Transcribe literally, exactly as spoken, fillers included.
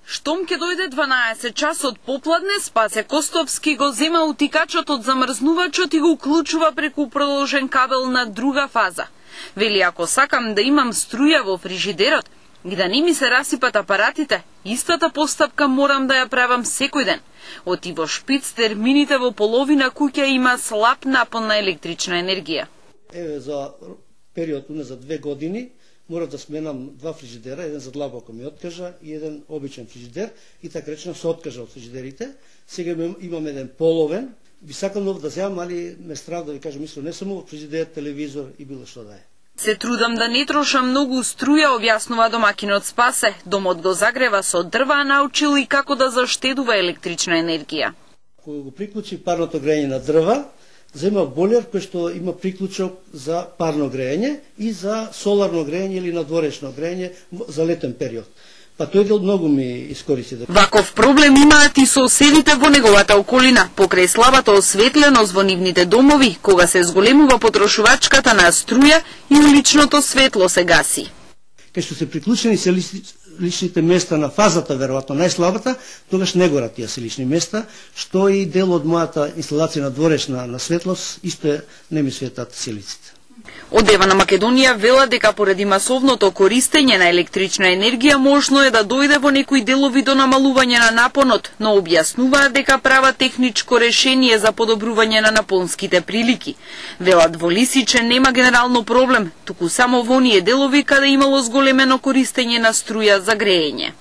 Штом ке дојде дванаесет часот попладне, Спасе Костовски го зема утикачот од замрзнувачот и го уклучува преку продолжен кабел на друга фаза. Вели, ако сакам да имам струја во фрижидерот и да не ми се расипат апаратите, истата постапка морам да ја правам секој ден. Оти во шпиц термините во половина куќа има слаб напон на електрична енергија. Еве за период за две години морав да сменам два фрижидера, еден за длабоко ми откажа и еден обичен фрижидер, и така речено се откажа од фрижидерите. Сега имам еден половен, би сакал нов да земам, али ме страв да ви кажам, мислам не само фрижидер, телевизор и било што да е. Се трудам да не трошам многу струја, објаснува домакинот Спасе. Домот го загрева со дрва, а научил и како да заштедува електрична енергија. Кога го приклучи парното грејење на дрва, зема болер кој што има приклучок за парно грејење и за соларно грејење или надворешно грејење за летен период. Па тој дел многу ми искористи. Ваков проблем имаат и соседите во неговата околина, покрај слабата осветленост во нивните домови, кога се зголемува потрошувачката на струја и уличното светло се гаси. Кај што се приклучени се личните места на фазата, веројатно најслабата, тогаш не горат тие се лични места, што и дел од мојата инсталација на дворешна на светлост, исто не ми светат силиците. Од Ева на Македонија вела дека поради масовното користење на електрична енергија можно е да дојде во некои делови до намалување на напонот, но објаснуваат дека права техничко решение за подобрување на напонските прилики. Велат во Лисиче нема генерално проблем, туку само во оние делови каде имало зголемено користење на струја за грејење.